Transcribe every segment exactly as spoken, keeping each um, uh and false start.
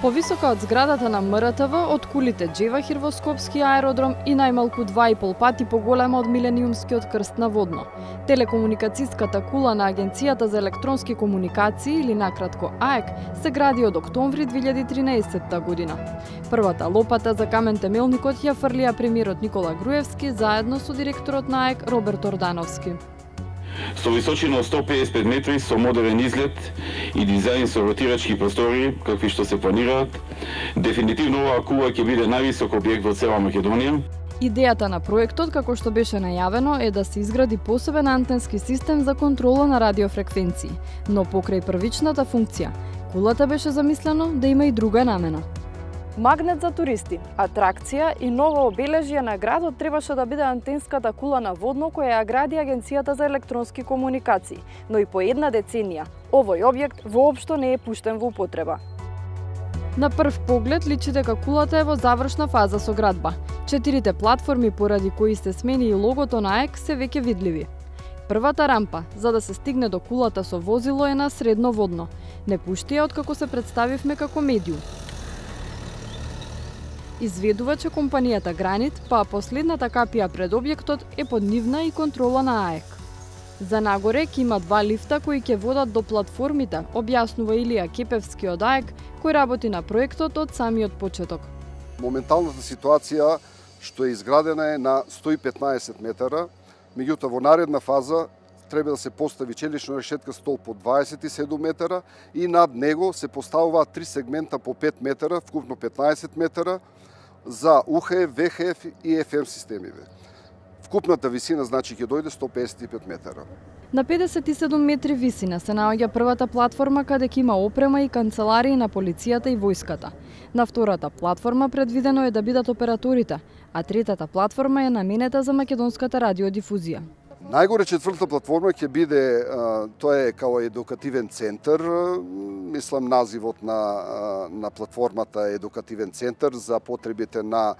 Повисока од зградата на М Р Т В, од кулите Джевахир во Скопски аеродром и најмалку два и пол пати поголема од Милениумскиот крст на Водно. Телекомуникацијската кула на Агенцијата за електронски комуникации, или накратко А Е К, се гради од октомври две илјади и тринаесетта година. Првата лопата за камен темелникот ја фрлија премиерот Никола Груевски заедно со директорот на А Е К Роберт Ордановски. Со височина од сто педесет и пет метри, со модерен изглед и дизајн со ротирачки простори, какви што се планираат, дефинитивно оваа кула ќе биде највисок објект во цела Македонија. Идејата на проектот, како што беше најавено, е да се изгради посебен антенски систем за контрола на радиофреквенции, но покрај првичната функција, кулата беше замислено да има и друга намена. Магнет за туристи, атракција и ново обележје на градот требаше да биде антенската кула на Водно која ја гради Агенцијата за електронски комуникации, но и по една деценија овој објект воопшто не е пуштен во употреба. На прв поглед личи дека кулата е во завршна фаза со градба. Четирите платформи поради кои се смени и логото на А Е К се веќе видливи. Првата рампа за да се стигне до кулата со возило е на средно Водно. Не пушти ја откако се представивме како медиум. Изведува, че компанијата Гранит, па последната капија пред објектот е под нивна и контрола на А Е К. За нагоре ќе има два лифта кои ќе водат до платформите, објаснува Илија Кепевски од А Е К, кој работи на проектот од самиот почеток. Моменталната ситуација што е изградена е на сто и петнаесет метара, меѓутоа во наредна фаза треба да се постави челична решетка стол по дваесет и седум метара и над него се поставуваат три сегмента по пет метара, вкупно петнаесет метара, за У Х Ф, В Х Ф и Ф М системиве. Вкупната висина значи ќе дојде сто педесет и пет метара. На педесет и седум метри висина се наоѓа првата платформа каде ќе има опрема и канцеларии на полицијата и војската. На втората платформа предвидено е да бидат операторите, а третата платформа е наменета за македонската радиодифузија. Најгоре четвртата платформа ќе биде, тоа е као едукативен центар, мислам називот на, на платформата е едукативен центар за потребите на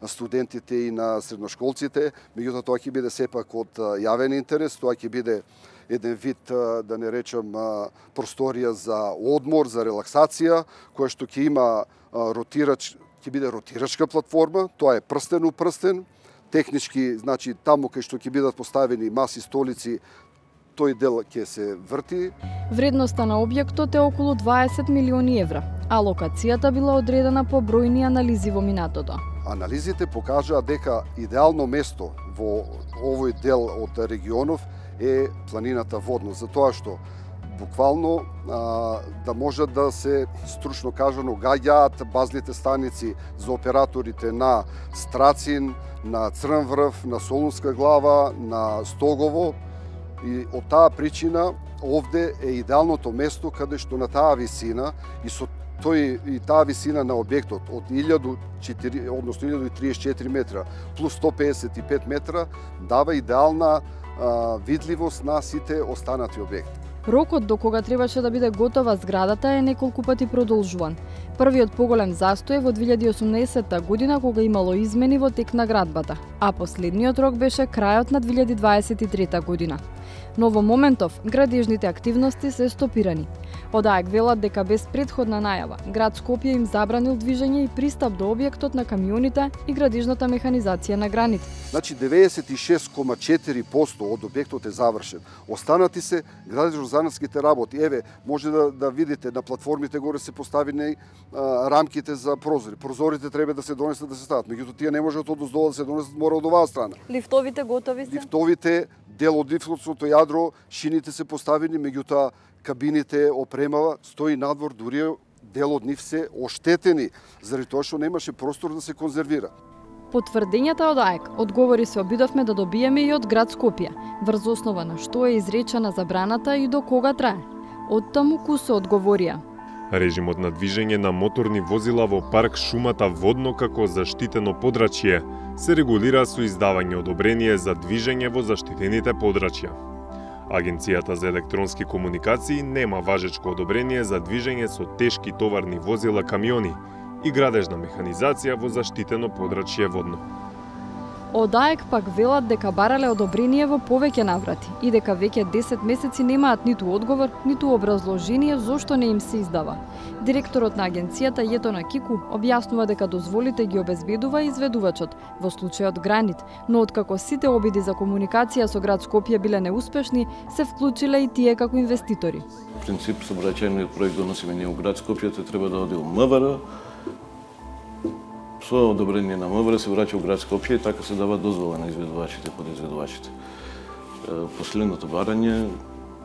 студентите и на средношколците, меѓутоа тоа ќе биде сепак од јавен интерес, тоа ќе биде еден вид, да не речам, просторија за одмор, за релаксација, која што ќе има ротирач, ќе биде ротирачка платформа, тоа е прстен у прстен, технички, значи таму кај што ќе бидат поставени маси, столици, тој дел ќе се врти. Вредноста на објектот е околу дваесет милиони евра, а локацијата била одредена по бројни анализи во минатото. Анализите покажаа дека идеално место во овој дел од регионов е планината Водно, затоа што буквално а, да можат да се, стручно кажано, гаѓаат базните станици за операторите на Страцин, на Црн врв, на Солунска глава, на Стогово, и од таа причина овде е идеалното место каде што на таа висина и со тој и таа висина на објектот од илјаду и четири, односно илјаду и триесет и четири метра плюс сто педесет и пет метра дава идеална а, видливост на сите останати објекти. Рокот до кога требаше да биде готова зградата е неколку пати продолжуван. Првиот поголем застој во две илјади и осумнаесетта година кога имало измени во тек на градбата, а последниот рок беше крајот на две илјади дваесет и трета година. Но во моментов градежните активности се стопирани. Од А Е К велат дека без претходна најава, град Скопје им забранил движење и пристап до објектот на камионите и градежната механизација на Гранит. Значи деветдесет и шест кoma четири проценти од објектот е завршен. Останати се градежно-занатските работи. Еве, може да, да видите на платформите горе се поставени а, рамките за прозори. Прозорите треба да се донесат да се стават. Меѓутоа тие не можат од оздола да се донесат, мора од оваа страна. Лифтовите готови се? Лифтовите, дел од лифтовото јадро, шините се поставени, меѓутоа кабините опремава, стои надвор, дури дел од нив се оштетени, заради тоа што немаше простор да се конзервира. Потврдењата од А Е К одговори се обидовме да добиеме и од град Скопје, врз основа на што е изречена забраната и до кога трае. Оттаму кусо одговорија. Режимот на движење на моторни возила во парк шумата Водно како заштитено подрачје се регулира со издавање одобрение за движење во заштитените подрачја. Агенцијата за електронски комуникации нема важечко одобрение за движење со тешки товарни возила камиони и градежна механизација во заштитено подрачје Водно. Од АЕК пак велат дека барале одобрение во повеќе наврати и дека веќе десет месеци немаат ниту одговор, ниту образложение зошто не им се издава. Директорот на агенцијата Јетона Кику објаснува дека дозволите ги обезбедува изведувачот, во случајот Гранит, но откако сите обиди за комуникација со град Скопје биле неуспешни, се вклучиле и тие како инвеститори. В принцип, сообраќајниот проект доносиме ние у град Скопје, тој треба да оди у МВР. Со одобрение на МВР се враќа у град Скопје и така се дава дозвола на изведувачите, подизведувачите. Последното барање,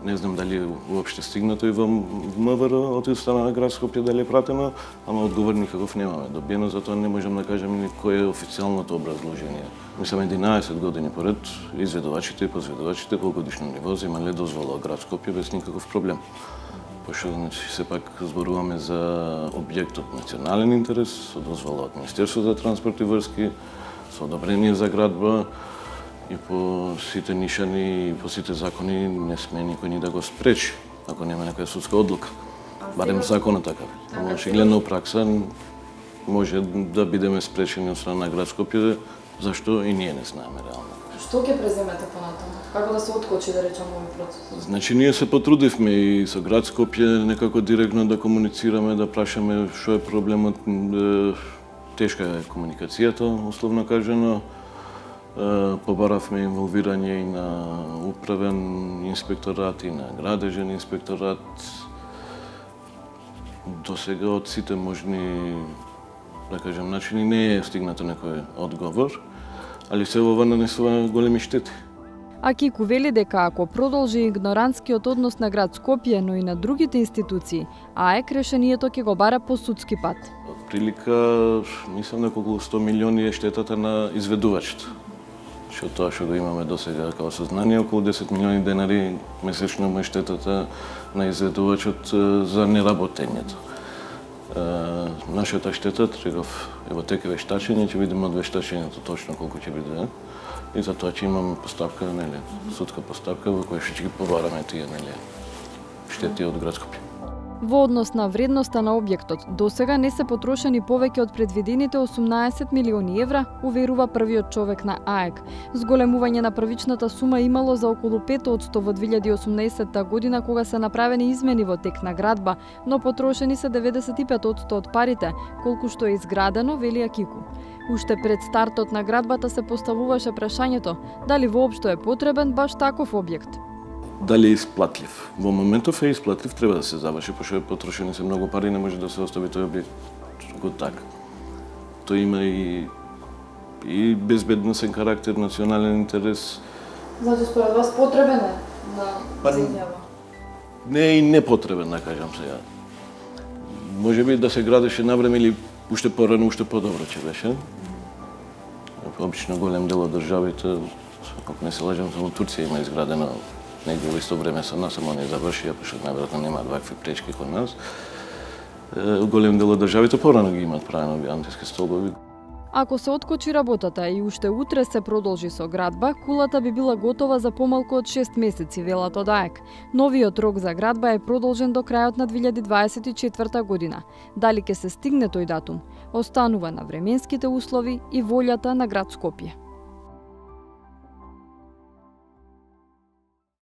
не знам дали е уопште стигнато и во МВР од страна на град Скопје, дали е пратено, ама одговор никаков немаме добиено, затоа не можам да кажам ни кој е официјалното образложение. Мислам, единаесет години поред изведувачите и позведувачите по годишно ниво земале дозвола од град Скопје без никаков проблем. Пошто, значи, сепак зборуваме за објект од национален интерес, со дозвола од Министерство за транспорт и врски, со одобрение за градба и по сите нишани и по сите закони не сме никој ни да го спречи, ако нема некоја судска одлука. Барем законот така. Ама очигледно пракса може да бидеме спречени од страна на град Скопје, зашто и ние не знаеме реално. Што ќе преземете понатаму? Како да се откочи, да речам, овој процес? Значи, ние се потрудивме и со град Скопје некако директно да комуницираме, да прашаме што е проблемот. Тешка е комуникацијата, условно кажано. Побаравме инволвирање и на управен инспекторат и на градежен инспекторат. До сега од сите можни, да кажем, начини не е стигнато некој одговор, али се ова нанесува големи штети. А Кику вели дека ако продолжи игнорантскиот однос на град Скопје, но и на другите институции, АЕК решението ќе го бара по судски пат. Прилика, мислам дека околу сто милиони е штетата на изведувачите. Што тоа што го имаме до сега како сознание, околу десет милиони денари месечно му е штетата на изведувачот за неработењето. Нашата штета трегав е во теке вештачење, ќе видиме од вештачењето точно колку ќе биде. И затоа ќе имаме поставка, нели, судска поставка во која ќе ги побараме тие, нели, штети од град Скопје. Во однос на вредноста на објектот, досега не се потрошени повеќе од предвидените осумнаесет милиони евра, уверува првиот човек на АЕК. Зголемување на првичната сума имало за околу пет одсто во две илјади и осумнаесетта година кога се направени измени во тек на градба, но потрошени се деветдесет и пет одсто од парите, колку што е изградено, вели Кику. Уште пред стартот на градбата се поставуваше прашањето дали воопшто е потребен баш таков објект. Дали е исплатлив? Во моментов е исплатлив, треба да се заврши, пошто е потрошени се многу пари, не може да се остави тој објект го така. Тој има и и безбедносен карактер, национален интерес. Значи, според вас потребен е на земјава? Не е и непотребен, да кажам сега. Може би да се градеше навреме или уште порано, уште подобро ќе беше. Обично голем дел од државите, ако не се лажам, само Турција има изградено негде во исто време со нас, ама не завршија, пошто најверојатно немаат вакви пречки кон нас. Голем дел од државите порано ги имаат правено овие антиски столбови. Ако се откочи работата и уште утре се продолжи со градба, кулата би била готова за помалку од шест месеци, велат од АЕК. Новиот рок за градба е продолжен до крајот на две илјади дваесет и четврта година. Дали ќе се стигне тој датум, останува на временските услови и волјата на град Скопје.